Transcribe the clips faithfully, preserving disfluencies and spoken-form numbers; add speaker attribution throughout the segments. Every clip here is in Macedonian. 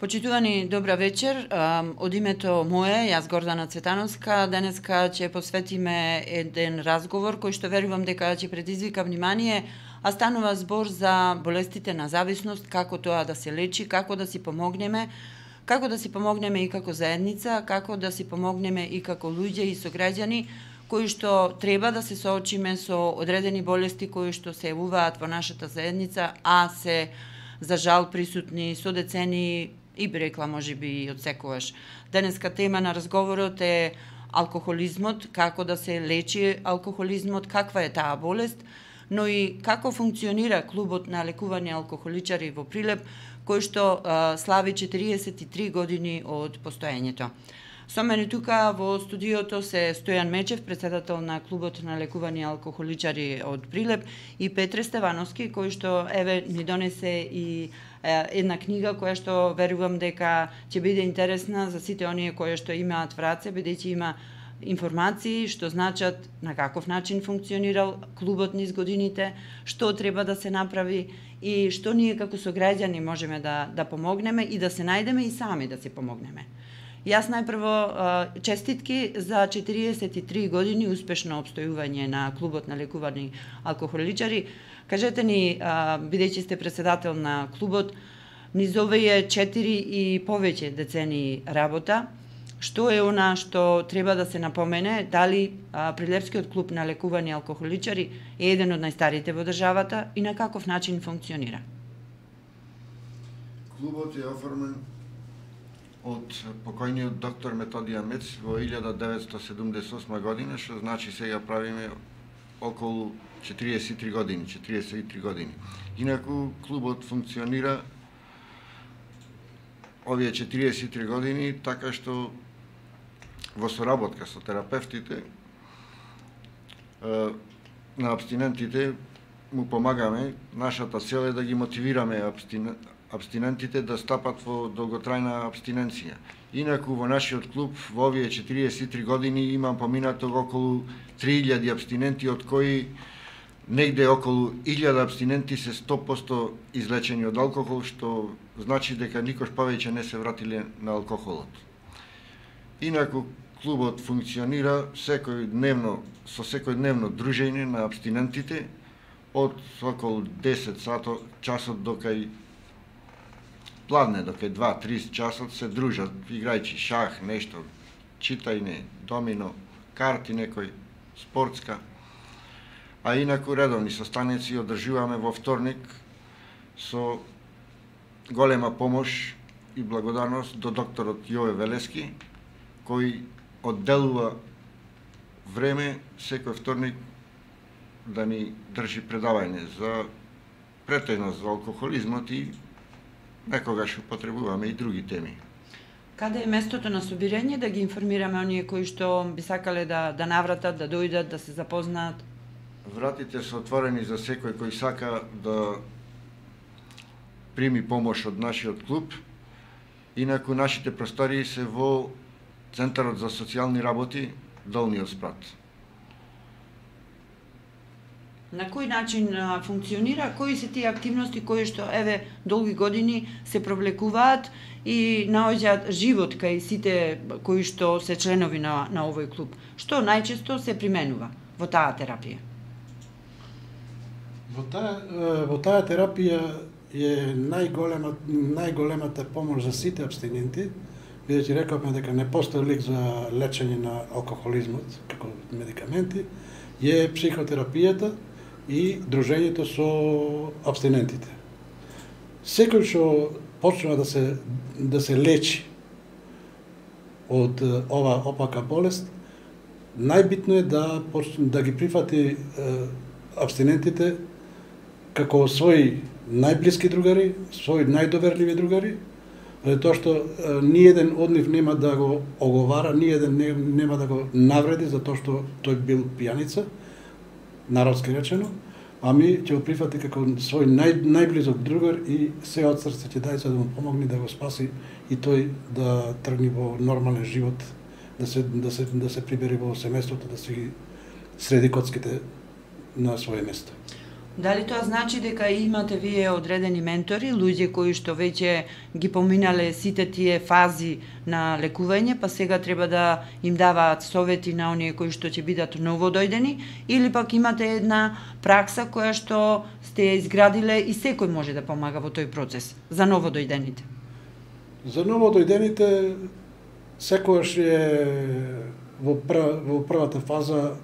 Speaker 1: Почитувани, добра вечер. Од името мое, јас Гордана Цветановска, денеска ќе посветиме еден разговор кој што верувам дека ќе предизвика внимание, а станува збор за болестите на зависност, како тоа да се лечи, како да си помогнеме, како да си помогнеме и како заедница, како да си помогнеме и како луѓе и сограѓани кои што треба да се соочиме со одредени болести кои што се јавуваат во нашата заедница, а се за жал присутни со децени и би рекла можеби и од секогаш. Денеска тема на разговорот е алкохолизмот, како да се лечи алкохолизмот, каква е таа болест, но и како функционира клубот на лекување алкохоличари во Прилеп, кој што а, слави четириесет и три години од постоењето. Со мене тука во студиото се Стојан Мечев, председател на клубот на лекување алкохоличари од Прилеп, и Петре Стевановски, кој што еве ни донесе и една книга која што верувам дека ќе биде интересна за сите оние кои што имаат в раце, бидејќи има информации што значат на каков начин функционирал клубот низ годините, што треба да се направи и што ние како сограѓани можеме да да помогнеме и да се најдеме и сами да си помогнеме. Јас најпрво честитки за четириесет и три години успешно обстојување на клубот на лекувани алкохоличари. Кажете ни, бидејќи сте председател на клубот, низ овие четири и повеќе децени работа, што е она што треба да се напомене, дали Прилепскиот клуб на лекувани алкохоличари е еден од најстарите во државата и на каков начин функционира?
Speaker 2: Клубот е оформен од покојниот доктор Методија Мец во илјада деветстотини седумдесет и осма година, што значи сега правиме околу четириесет и три години, четириесет и три години. Инаку клубот функционира овие четириесет и три години така што во соработка со терапевтите на абстинентите му помагаме. Нашата цел е да ги мотивираме абстинентите да стапат во долготрајна абстиненција. Инаку во нашиот клуб во овие четириесет и три години имам поминато околу три илјади абстиненти, од кои негде околу илјада абстиненти се сто проценти излечени од алкохол, што значи дека никош повеќе не се вратиле на алкохолот. Инаку клубот функционира секој дневно со секој дневно дружење на абстинентите од околу десет часот до кај пладне, до кај два-три часот се дружат, играјќи шах, нешто, читајне, домино, карти некој, спортска. А инаку редовни состаници одржуваме во вторник со голема помош и благодарност до докторот Јове Велески, кој одделува време секој вторник да ни држи предавање за претежно за алкохолизмот и некогаш употребуваме и други теми.
Speaker 1: Каде е местото на собирање да ги информираме оние кои што би сакале да да навратат, да дојдат, да се запознаат?
Speaker 2: Вратите се отворени за секој кој сака да прими помош од нашиот клуб. Инаку нашите простории се во Центарот за социјални работи, Долниот спрат.
Speaker 1: На кој начин а, функционира, кои се тие активности кои што еве долги години се провлекуваат и наоѓаат живот кај сите кои што се членови на на овој клуб? Што најчесто се применува во таа терапија?
Speaker 3: Во таа во таа терапија е најголема најголемата помош за сите абстиненти, бидејќи рековме дека не постои лек за лечење на алкохолизмот како медикаменти, е психотерапијата и дружењето со абстинентите. Секој што почнува да се да се лечи од ова опака болест, најбитно е да почне да ги прифати е, абстинентите како своји најблиски другари, своји најдоверливи другари, тоа што е, ниеден од нив нема да го оговара, ниеден не, нема да го навреди за тоа што тој бил пијаница, народски речено, а ми ќе го прифати како свој нај, најблизок другар и се од срце ќе даде за да му помогне да го спаси и тој да тргне во нормален живот, да се да се да се прибери во семејството, да си среди коцките на своје место.
Speaker 1: Дали тоа значи дека имате вие одредени ментори, луѓе кои што веќе ги поминале сите тие фази на лекување, па сега треба да им даваат совети на оние кои што ќе бидат новодојдени, или пак имате една пракса која што сте ја изградиле и секој може да помага во тој процес за новодојдените?
Speaker 3: За новодојдените секојаш е во, прв, во првата фаза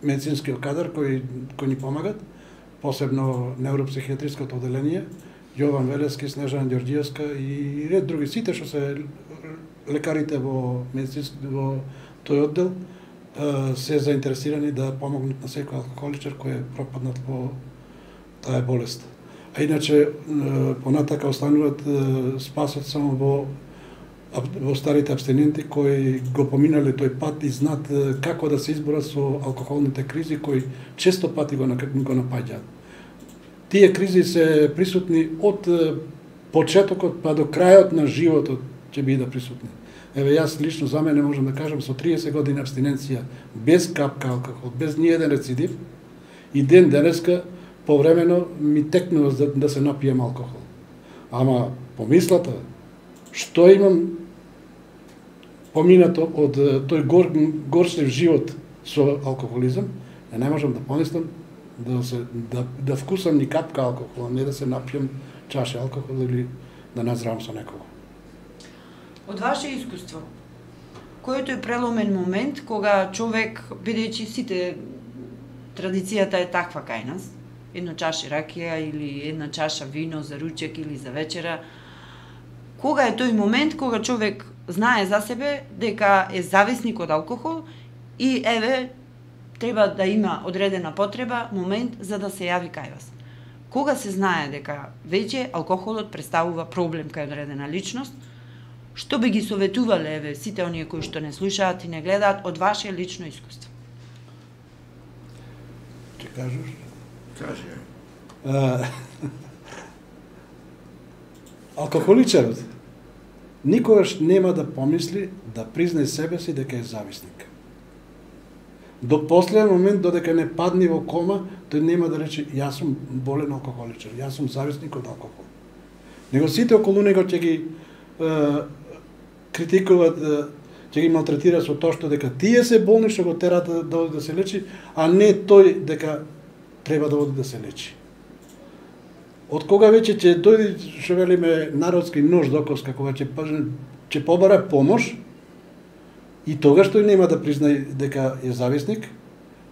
Speaker 3: медицинскиот кадар кој, кој ни помагат, посебно невропсихијатриското одделение, Јован Велески, Снежана Ѓорѓиевска и ред други, сите што се лекарите во медицински во тој оддел се заинтересирани да помогнат на секој алкохоличар кој е пропаднат во таа болест. А иначе понатака остануваат спасот само во во старите абстиненти кои го поминале тој пат и знаат како да се изборат со алкохолните кризи кои често пати го, го напаѓаат. Тие кризи се присутни од почетокот па до крајот на животот ќе бидат присутни. Еве јас лично за мене можам да кажам со триесет години абстиненција без капка алкохол, без ни еден рецидив и ден денеска повремено ми текнува да, да се напијам алкохол. Ама помислата што имам поминато од тој гор, горшлив живот со алкохолизам, не можам да помислам да се да, да вкусам ни капка алкохол, а не да се напијам чаша алкохол или да назрам со некого.
Speaker 1: Од ваше искуство, кој е тој преломен момент кога човек, бидејќи сите традицијата е таква кај нас, една чаша ракија или една чаша вино за ручек или за вечера, кога е тој момент кога човек знае за себе дека е зависник од алкохол и еве треба да има одредена потреба, момент за да се јави кај вас. Кога се знае дека веќе алкохолот представува проблем кај одредена личност, што би ги советувале еве сите оние кои што не слушаат и не гледаат од ваше лично искуство?
Speaker 3: Ќе кажеш?
Speaker 2: Кажи.
Speaker 3: Алкохоличарот никогаш нема да помисли да признае себе си дека е зависник. До последен момент, додека не падне во кома, тој нема да рече јас сум болен алкохоличар, јас сум зависник од алкохол. Него сите околу него ќе ги е, критикуваат, е, ќе ги малтретираат со тоа што дека тие се болни што го терат да, да оди да се лечи, а не тој дека треба да оди да се лечи. Од кога веќе ќе дојде, што велиме народски нож до коска, кога ќе ќе побара помош, и тогаш тој нема да признае дека е зависник,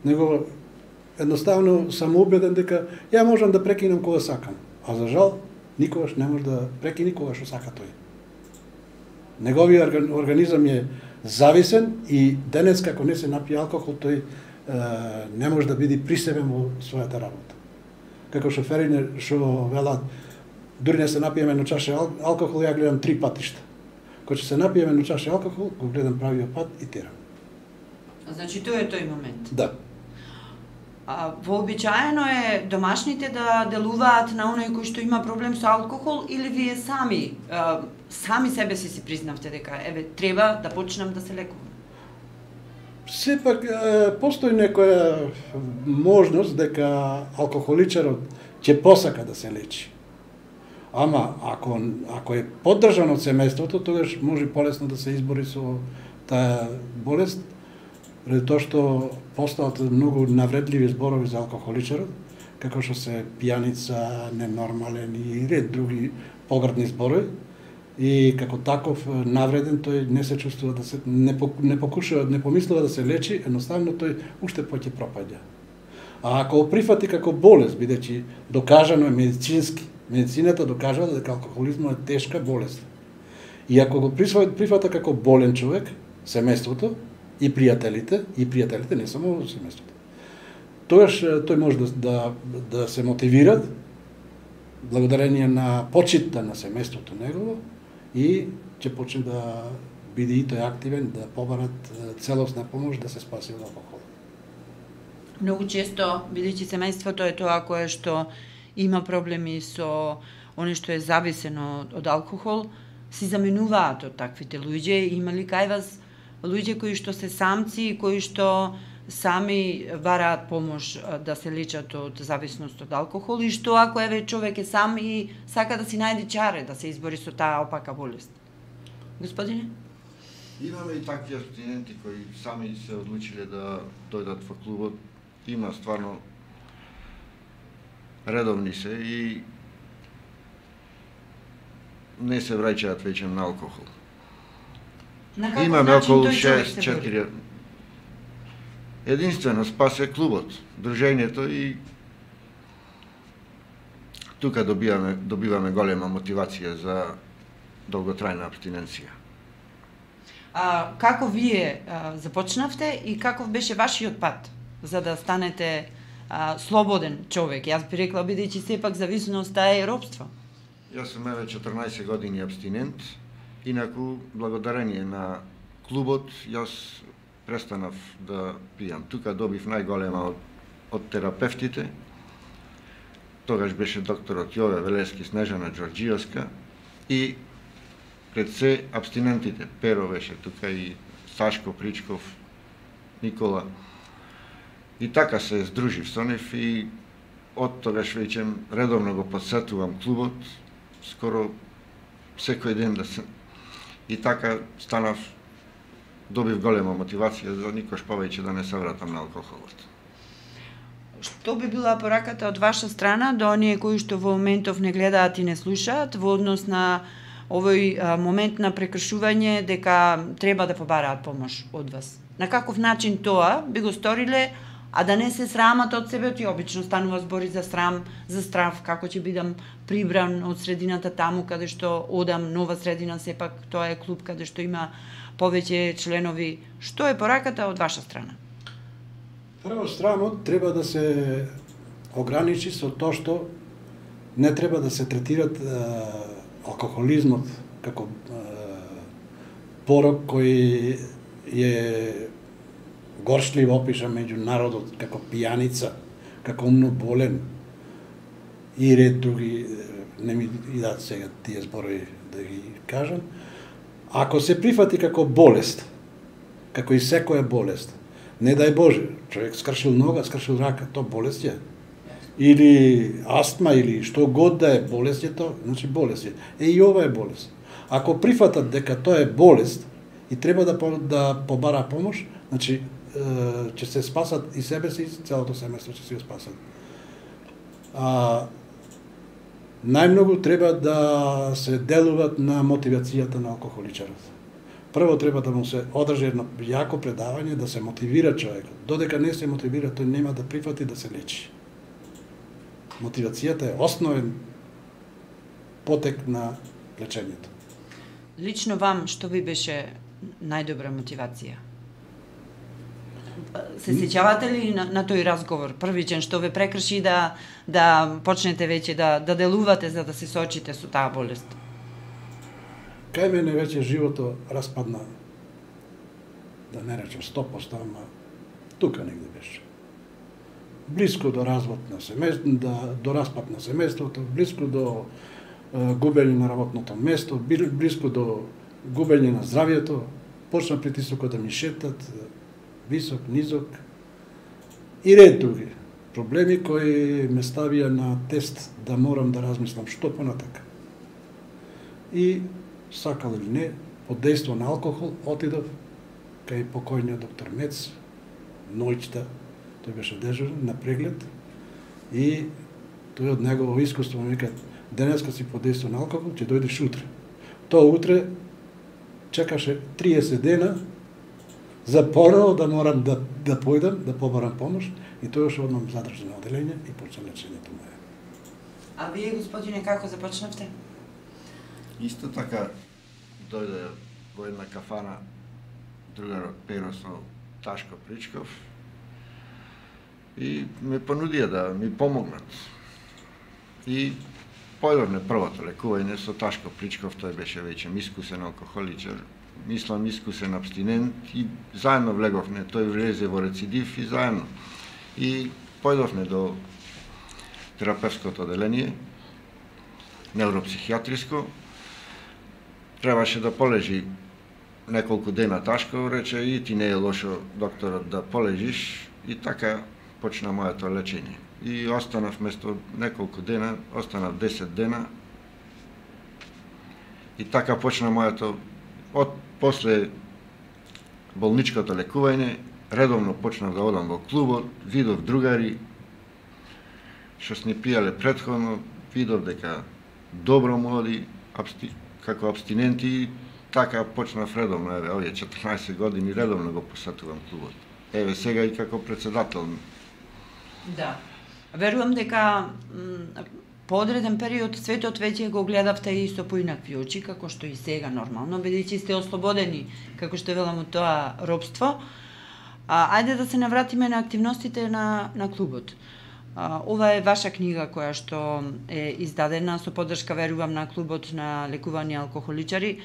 Speaker 3: него едноставно сам убеден дека ја можам да прекинам кога сакам, а за жал никогаш не може да прекини кога што сака тој. Неговиот организам е зависен и денес како не се напие алкохол, тој е, не може да биде присебен во својата работа. Како шоферите што велат, дури не се напиеме на чаша алкохол, ја гледам три патишта. Кога ќе се напиеме на чаша алкохол, го гледам правиот пат и терам.
Speaker 1: Значи тоа е тој момент.
Speaker 3: Да.
Speaker 1: А, вообичаено е домашните да делуваат на оној кој што има проблем со алкохол или вие сами а, сами себе си си признавте дека еве треба да почнам да се лекувам?
Speaker 3: Сепак постои некоја можност дека алкохоличарот ќе посака да се лечи. Ама ако ако е поддржан од семејството, тогаш може полесно да се избори со таа болест, преди тоа што постојат многу навредливи зборови за алкохоличарот, како што се пијаница, ненормален и ред други поградни зборови. И како таков навреден тој не се чувствува да се не, не покушува, не помислува да се лечи, едноставно тој уште поќе пропаѓа. А ако го прифати како болест, бидејќи докажано е медицински, медицината докажала дека алкохолизмот е тешка болест. И ако го прифата како болен човек, семејството и пријателите, и пријателите не само семејството, тогаш тој може да, да, да се мотивират благодарение на почитта на семејството негово и ќе почне да биде и тој активен, да побарат целосна помош да се спаси од алкохол.
Speaker 1: Многу често, бидејќи семејството е тоа кое што има проблеми со оно што е зависено од алкохол, си заменуваат од таквите луѓе. Има ли кај вас луѓе кои што се самци и кои што сами бараат помош да се лечат од зависност од алкохол и што ако еве човек е сам и сака да си најде чаре да се избори со таа опака болест? Господине?
Speaker 2: Имаме и такви абстиненти кои сами се одлучиле да дојдат во клубот. Има стварно редовни се и не се враќаат веќе на алкохол.
Speaker 1: На каков
Speaker 2: Имаме
Speaker 1: начин
Speaker 2: околу
Speaker 1: тој човек
Speaker 2: шест
Speaker 1: се
Speaker 2: четири.
Speaker 1: бори?
Speaker 2: Единствено спасе клубот, дружењето и тука добиваме добиваме голема мотивација за долготрајна абстиненција.
Speaker 1: А, како вие а, започнавте и каков беше вашиот пат за да станете а, слободен човек? Јас би рекла, бидејќи сепак зависноста е робство.
Speaker 2: Јас сум еве четрнаесет години абстинент, инаку благодарение на клубот јас престанав да пијам. Тука добив најголема од, од терапевтите. Тогаш беше докторот Јове Велески, Снежана Ѓорѓиевска и пред се абстинентите. Перо беше тука и Сашко Причков, Никола. И така се здружив со нив и од тогаш веќе редовно го посетувам клубот, скоро секој ден да се... И така станав, добив голема мотивација за никош повеќе да не се вратам на алкохолот.
Speaker 1: Што би била пораката од ваша страна до оние кои што во моментов не гледаат и не слушаат во однос на овој а, момент на прекршување дека треба да побараат помош од вас? На каков начин тоа би го сториле, а да не се срамат од себе? Ти обично станува збори за срам, за страв, како ќе бидам прибран од средината таму каде што одам, нова средина, сепак тоа е клуб каде што има повеќе членови. Што е пораката од ваша страна?
Speaker 3: Прво, срамот треба да се ограничи со тоа што не треба да се третират е, алкохолизмот како е, порок кој е горшлив опиша меѓу народот како пијаница, како умно болен и ред други, не ми идат сега тие зборови да ги кажам. Ако се прифати како болест, како и секоја болест, не дај Боже, човек скршил нога, скршил рака, то болест е. Или астма, или што год да е болест е то, значи болест е. Е и ова е болест. Ако прифатат дека тоа е болест и треба да, да побара помош, значи ќе се спасат и себе си, и целото семејство ќе се го спасат. А, најмногу треба да се делуват на мотивацијата на алкохоличарот. Прво треба да му се одржи едно јако предавање, да се мотивира човекот. Додека не се мотивира, тој нема да прифати да се лечи. Мотивацијата е основен потек на лечењето.
Speaker 1: Лично вам, што ви беше најдобра мотивација? Се сеќавате ли на, на тој разговор, првичен, што ве прекрши да, да почнете веќе да, да делувате за да се соочите со таа болест?
Speaker 3: Кај мене веќе живото распадна, да не речем сто проценти, ама тука негде беше. Блиско до развод на семејството, да, до распад на семејството, блиско до е, губење на работното место, блиско до губење на здравието, почна притисокот да ми шептат, висок, низок и ред други проблеми кои ме ставија на тест да морам да размислам што понатака. И сакал или не, под дејство на алкохол отидов кај покојниот доктор Мец, ноќта, тој беше дежурен на преглед и тој од негово искуство ми вика: денеска си под дејство на алкохол, ќе дојдеш утре. Тоа утре чекаше триесет дена за поново да морам да, да појдам, да побарам помош и тој уште однам задржано оделење и почна лечењето моје.
Speaker 1: А вие, господине, како започнавте?
Speaker 2: Исто така дојде во една кафана другарот Перо со Ташко Причков и ме понудија да ми помогнат. И појдовме првото лекување со Ташко Причков, тој беше веќе искусен алкохоличар, мислам искусен абстинент и заедно влеговме, тој влезе во рецидив и заедно. И појдовме до терапевското оделение, невропсихијатриско, требаше да полежи неколку дена ташко, рече и ти не е лошо докторот да полежиш, и така почна моето лечење. И останав место неколку дена, останав десет дена, и така почна моето, од после болничкото лекување, редовно почнав да одам во клубот, видов другари, што сни пијале претходно, видов дека добро му оди, абсти, како абстиненти, така почнав редовно, еве, овие четрнаесет години редовно го посетувам клубот. Еве, сега и како председател.
Speaker 1: Да. Верувам дека по одреден период светот веќе го гледавте и со поинакви очи, како што и сега нормално, бидејќи сте ослободени, како што велам, од тоа робство. А, ајде да се навратиме на активностите на, на клубот. А, ова е ваша книга која што е издадена со поддршка, верувам, на клубот на лекувани алкохоличари.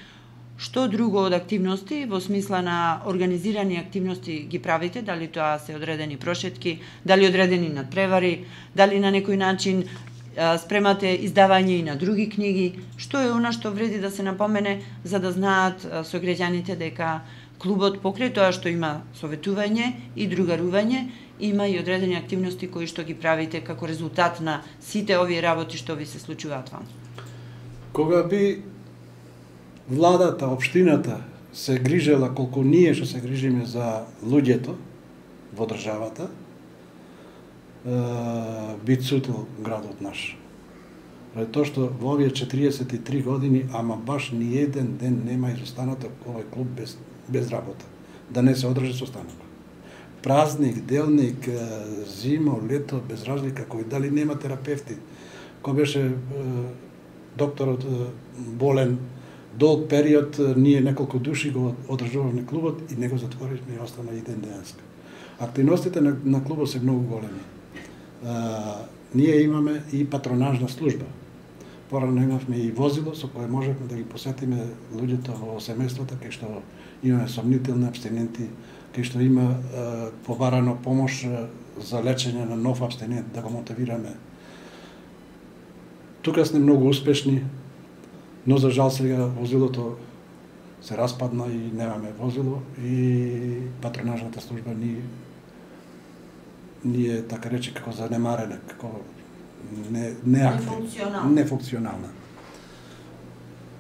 Speaker 1: Што друго од активности, во смисла на организирани активности ги правите, дали тоа се одредени прошетки, дали одредени надпревари, дали на некој начин а, спремате издавање и на други книги, што е она што вреди да се напомене за да знаат а, сограѓаните дека клубот покрај тоа што има советување и другарување, има и одредени активности кои што ги правите како резултат на сите овие работи што ви се случуваат вам.
Speaker 3: Кога би владата, општината се грижела колку ние што се грижиме за луѓето во државата, би цутил градот наш. Ради тоа што во овие четириесет и три години, ама баш ни еден ден нема изостанато овој клуб без, без работа. Да не се одржи состанок. Празник, делник, зимо, лето, без разлика, кој дали нема терапевти. Кој беше докторот болен долг период, ние неколку души го одржувавме клубот и не го затворивме и остана еден денска. Активностите на, на клубот се многу големи. А, ние имаме и патронажна служба. Порано имавме и возило со кое можевме да ги посетиме луѓето во семејствата, кај што имаме сомнителни абстиненти, кај што има а, побарано помош за лечење на нов абстинент, да го мотивираме. Тука сме многу успешни, но за жал сега возилото се распадна и немаме возило и патронажната служба ни ни е, така рече, како занемарена, како не неактивна, нефункционална.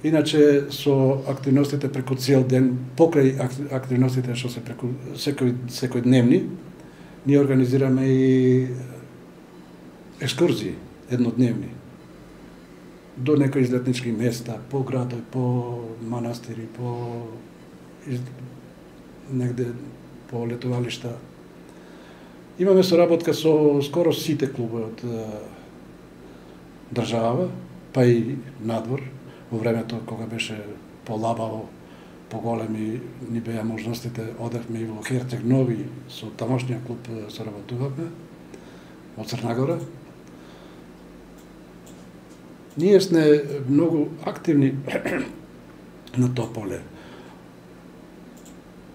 Speaker 3: Иначе со активностите преку цел ден, покрај активностите што се преку секој секојдневни, ние организираме и екскурзии еднодневни до некои излетнички места, по градови, по манастири, по из... негде по летувалишта. Имаме соработка со скоро сите клубови од држава, па и надвор. Во времето кога беше полабаво, поголеми ни беа можностите, одевме и во Херцег Нови со тамошниот клуб соработувавме од Црна Гора. Ние сме многу активни на тоа поле.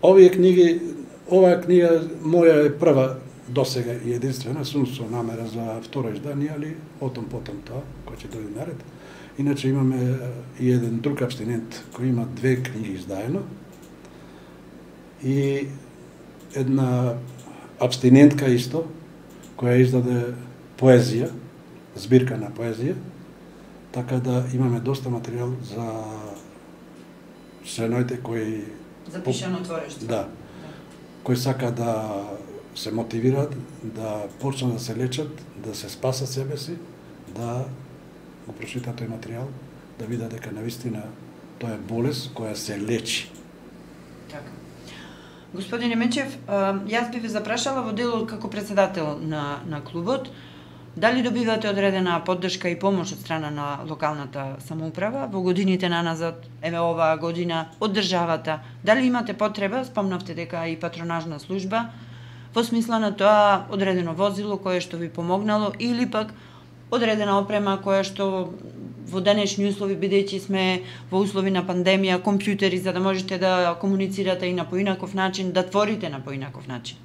Speaker 3: Овие книги, оваа книга моја е прва досега и единствена, сум со намера за второ издание, али отом потом тоа, кој ќе дојде наред. Иначе имаме и еден друг абстинент кој има две книги издаено и една абстинентка исто која издаде поезија, збирка на поезија, така да имаме доста материјал за среноите кои
Speaker 1: запишано творештво.
Speaker 3: Да. Кои сака да се мотивираат, да почнат да се лечат, да се спасат себе си, да го прочитат тој материјал, да видат дека навистина тоа е болест која се лечи.
Speaker 1: Така. Господине Мечев, јас би ве запрашала во делот како председател на, на клубот, дали добивате одредена поддршка и помош од страна на локалната самоуправа во годините наназад, еве оваа година, од државата? Дали имате потреба, спомнавте дека и патронажна служба, во смисла на тоа одредено возило кое што ви помогнало или пак одредена опрема која што во денешни услови, бидејќи сме во услови на пандемија, компјутери за да можете да комуницирате и на поинаков начин, да творите на поинаков начин?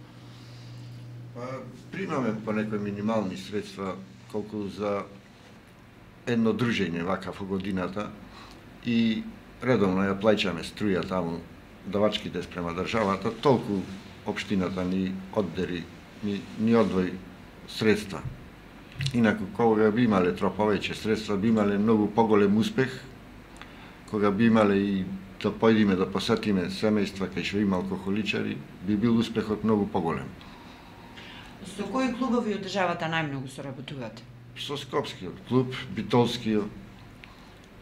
Speaker 2: Примаме по некои минимални средства колку за едно дружење вака во годината и редовно ја плаќаме струја таму давачките спрема државата, толку општината ни оддери, ни, ни одвои средства. Инаку, кога би имале тро повеќе средства, би имале многу поголем успех, кога би имале и да појдиме да посетиме семејства кај што има алкохоличари, би бил успехот многу поголем.
Speaker 1: Со кои клубови од државата најмногу соработувате?
Speaker 2: Со Скопскиот клуб, Битолскиот.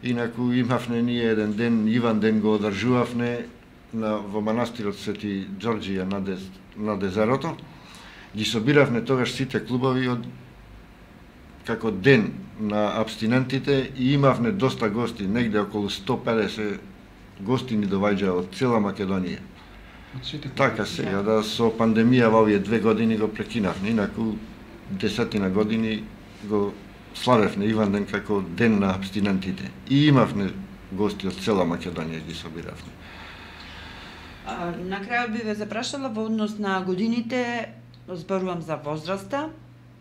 Speaker 2: Инаку имавме ние еден ден, Иван ден го одржувавме на, во манастирот Свети Ѓорѓија на, дез, на Дезерото. Ги собиравме тогаш сите клубови од како ден на абстинентите и имавме доста гости, негде околу сто педесет гости ни доваѓаа од цела Македонија. Така сега, да, со пандемија во овие две години го прекинавме, инаку десетина години го славевме Иван ден како ден на абстинентите. И имавме гости од цела Македонија, ги собиравме.
Speaker 1: А, на крајот би ве запрашала во однос на годините, зборувам за возраста,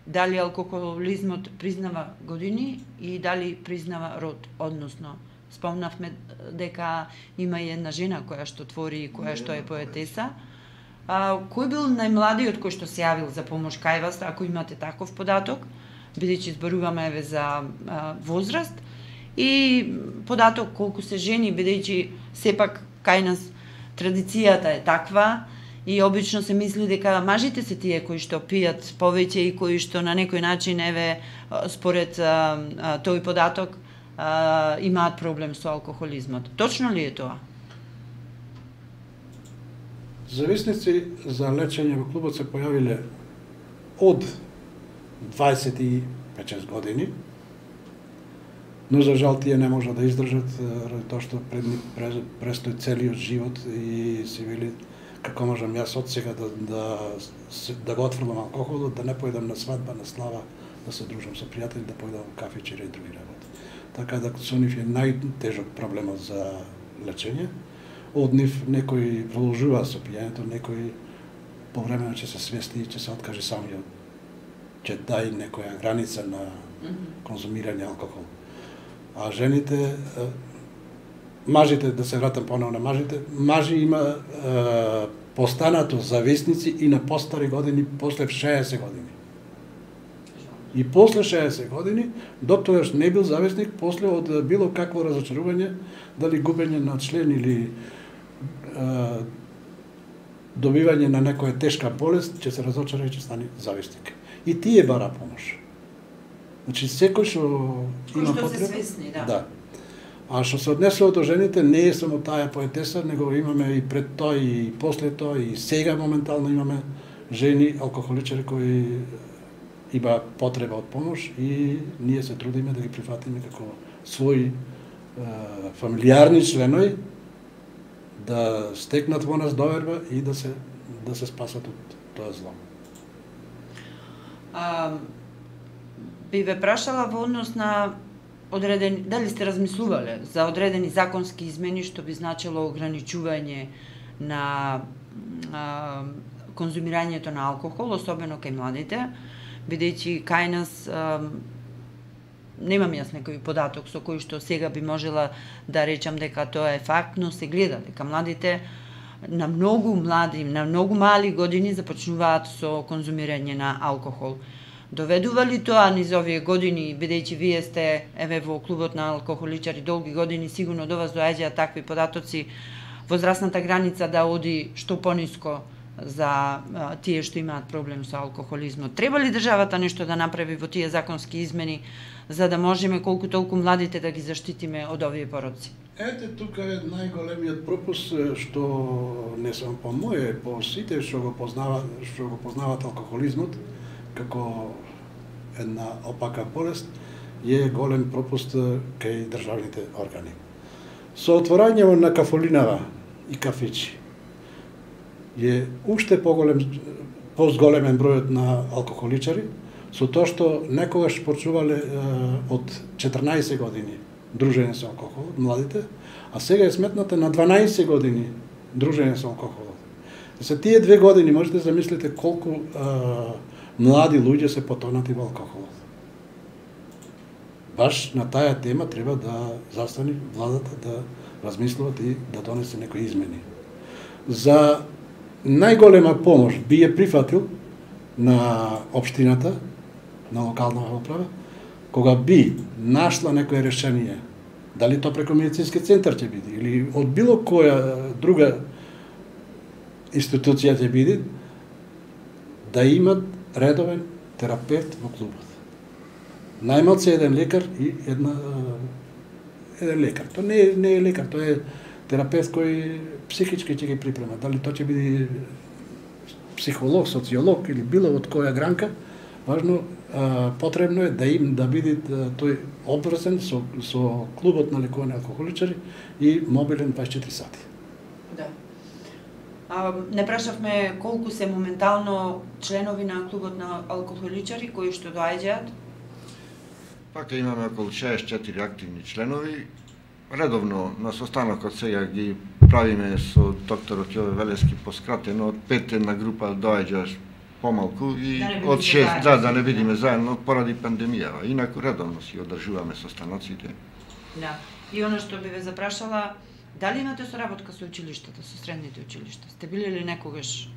Speaker 1: дали алкохолизмот признава години и дали признава род, односно спомнавме дека има и една жена која што твори и која што е поетеса. А, кој бил најмладиот кој што се јавил за помош кај вас, ако имате таков податок, бидејќи зборуваме еве за а, возраст и податок колку се жени, бидејќи сепак кај нас традицијата е таква и обично се мисли дека мажите се тие кои што пијат повеќе и кои што на некој начин еве според а, а, тој податок а, имаат проблем со алкохолизмот. Точно ли е тоа?
Speaker 3: Зависници за лечење во клубот се појавиле од дваесет и пет години, но за жал тие не можат да издржат ради тоа што пред нив престои целиот живот и си вели како можам јас од сега да, да, да го отфрлам алкохолот, да не појдам на свадба, на слава, да се дружам со пријатели, да појдам во кафичери и други работи. Така да со нив е најтежок проблемот за лечење. Од нив некои продолжуваат со пијањето, некои повремено ќе се свести и ќе се откаже самиот, ќе дај некоја граница на конзумирање алкохол. А жените, мажите, да се вратам поново на мажите, мажи има е, постанато зависници и на постари години, после шеесет години. И после шеесет години, доктогаш не бил зависник, после од било какво разочарување, дали губење на член или е, добивање на некоја тешка болест, ќе се разочара и ќе стане зависник. И тие бара помош. Значи, секој што има потреба...
Speaker 1: се свесни, да.
Speaker 3: Да. А што се однесува до жените, не е само таа поетеса, него имаме и пред тоа, и после тоа, и сега моментално имаме жени алкохоличари кои има потреба од помош и ние се трудиме да ги прифатиме како своји е, фамилиарни членови, да стекнат во нас доверба и да се да се спасат од тоа зло.
Speaker 1: А, би ве прашала во однос на одредени, дали сте размислувале за одредени законски измени што би значило ограничување на а, конзумирањето на алкохол, особено кај младите, бидејќи кај нас а, немам јас некој податок со кој што сега би можела да речам дека тоа е факт, но се гледа дека младите на многу млади, на многу мали години започнуваат со конзумирање на алкохол. Доведува ли тоа низ овие години, бидејќи вие сте еве во клубот на алкохоличари долги години, сигурно до вас доаѓаат такви податоци, возрастната граница да оди што пониско за а, тие што имаат проблем со алкохолизмот. Треба ли државата нешто да направи во тие законски измени за да можеме колку толку младите да ги заштитиме од овие пороци?
Speaker 3: Ете, тука е најголемиот пропуск што не само по моје, по сите што го познаваат, што го познаваат алкохолизмот како една опака болест, е голем пропуст кај државните органи. Со отворањето на кафолинава и кафичи е уште поголем, позголемен бројот на алкохоличари, со тоа што некогаш почнувале од четрнаесет години дружење со алкохол, младите, а сега е сметната на дванаесет години дружење со алкохол. За тие две години можете да замислите колку а, млади луѓе се потонати во алкохолот. Баш на таа тема треба да застани владата, да размислуват и да донесе некои измени. за најголема помош би ја прифатил на општината, на локална управа, кога би нашла некое решение, дали то преку медицински центар ќе биде или од било која друга институција ќе биде, да имат редовен терапевт во клубот. Најмалце еден лекар и една еден лекар. Тоа не е, не е лекар, тоа е терапевт кој психички ќе ги припрема. Дали тоа ќе биде психолог, социолог или било од која гранка, важно, а, потребно е да им да биде тој обврзан со, со клубот на лекување алкохоличари и мобилен дваесет и четири сати.
Speaker 1: Да. А, не прашавме колку се моментално членови на клубот на алкохоличари кои што доаѓаат?
Speaker 2: Пака имаме околу шеесет и четири активни членови. Редовно на состанокот сега ги правиме со докторот Јове Велески поскратено, од пет една група доаѓа помалку и
Speaker 1: да
Speaker 2: од шест, да, да не видиме заедно поради пандемијава. Инаку редовно си одржуваме состаноците.
Speaker 1: Да. И оно што би ве запрашала, дали имате соработка со училиштата, со средните училишта? Сте били ли некогаш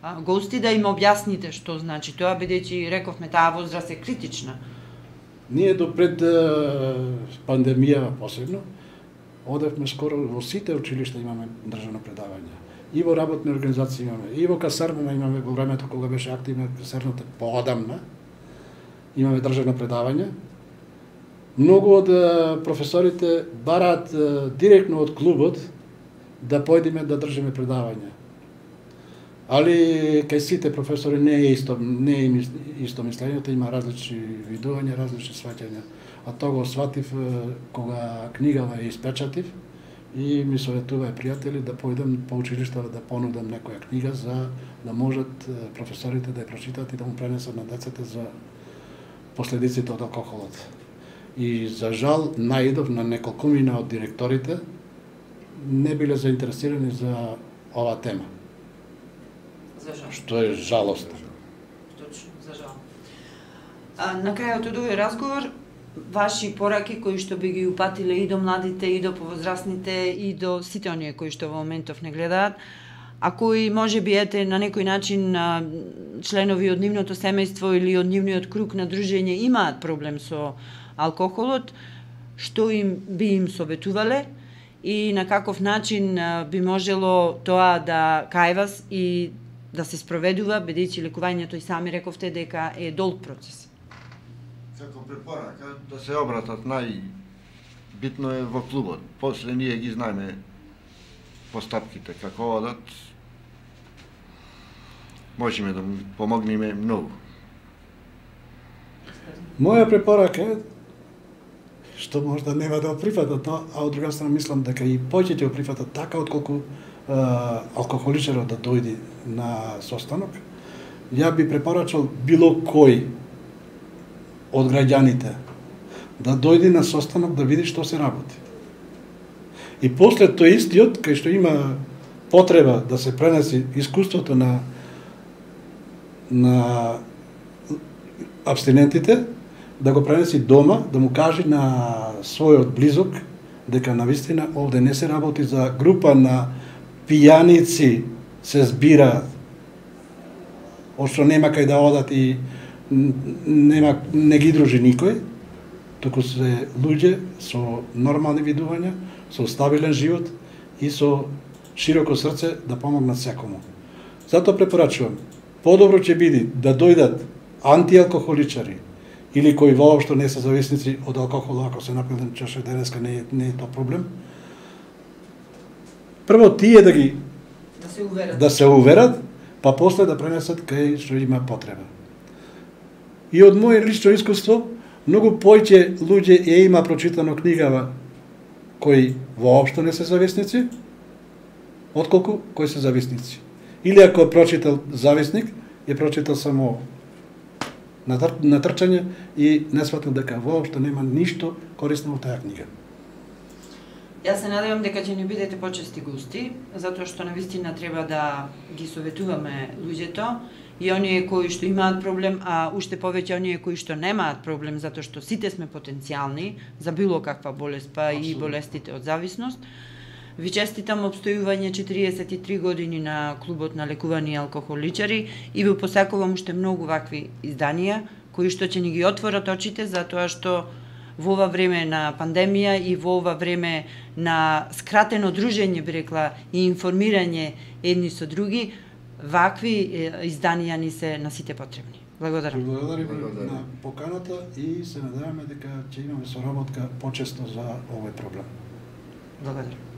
Speaker 1: а, гости да им објасните што значи тоа, бидејќи рековме таа возраст е критична?
Speaker 3: Ние до пред пандемијава посебно, одевме скоро во сите училишта имаме државно предавање. И во работни организации имаме, и во касарната имаме во времето кога беше активна касарната поодамна, имаме државно предавање. Многу од професорите бараат директно од клубот да појдеме да држиме предавање. Али кај сите професори не е исто, не е исто мислењето, има различни видувања, различни сваќања. А тоа го сватив кога книгава ја испечатив и ми советува пријатели да појдем по училиштата да понудам некоја книга за да можат професорите да ја прочитат и да му пренесат на децата за последиците од алкохолот. И за жал наидов на неколкумина од директорите не биле заинтересирани за оваа тема.
Speaker 1: За жал.
Speaker 3: Што е жалостно.
Speaker 1: Точно, за жал. А, на крајот од овој разговор, ваши пораки кои што би ги упатиле и до младите, и до повозрастните, и до сите оние кои што во моментов не гледаат, а кои може би ете на некој начин а, членови од нивното семејство или од нивниот круг на дружење имаат проблем со алкохолот, што им би им советувале и на каков начин а, би можело тоа да кај вас и да се спроведува, бидејќи лекувањето и сами рековте дека е долг процес.
Speaker 2: Како препорака да се обратат, најбитно е во клубот. После ние ги знаеме постапките како одат. Можеме да му помогнеме многу.
Speaker 3: Моја препорака е што можда нема да прифатат, а од друга страна мислам дека и повеќе ќе прифатат така отколку алкохоличарот да дојде на состанок. Ја би препорачал било кој од граѓаните да дојде на состанок да види што се работи. И после тој истиот, кај што има потреба да се пренеси искуството на на абстинентите, да го пренеси дома, да му каже на својот близок дека навистина овде не се работи за група на пијаници се збираат, ошто нема кај да одат и нема, не ги дружи никој, туку се луѓе со нормални видувања, со стабилен живот и со широко срце да помогнат секому. Затоа препорачувам, подобро ќе биде да дојдат антиалкохоличари или кои воопшто не се зависници од алкохол, ако се напилен чаша денеска не е, не е тоа проблем. Прво тие да ги
Speaker 1: да се уверат,
Speaker 3: да се уверат, па после да пренесат кај што има потреба. И од моје лично искуство, многу поиќе луѓе ја има прочитано книгава кои воопшто не се зависници, отколку кои се зависници. Или ако е прочитал зависник, е прочитал само натрчање и не сватил дека воопшто нема ништо корисно во таа книга.
Speaker 1: Јас се надевам дека ќе ни бидете почести гости, затоа што навистина треба да ги советуваме луѓето и оние кои што имаат проблем, а уште повеќе оние кои што немаат проблем, затоа што сите сме потенцијални за било каква болест, па и болестите од зависност, Ви честитам обстојување четириесет и три години на клубот на лекувани алкохоличари и ви посакувам уште многу вакви изданија кои што ќе ни ги отворат очите за тоа што во ова време на пандемија и во ова време на скратено дружење, би рекла, и информирање едни со други, вакви изданија ни се на сите потребни. Благодарам.
Speaker 3: Благодариме на поканата и се надеваме дека ќе имаме соработка почесто за овој проблем.
Speaker 1: Благодарам.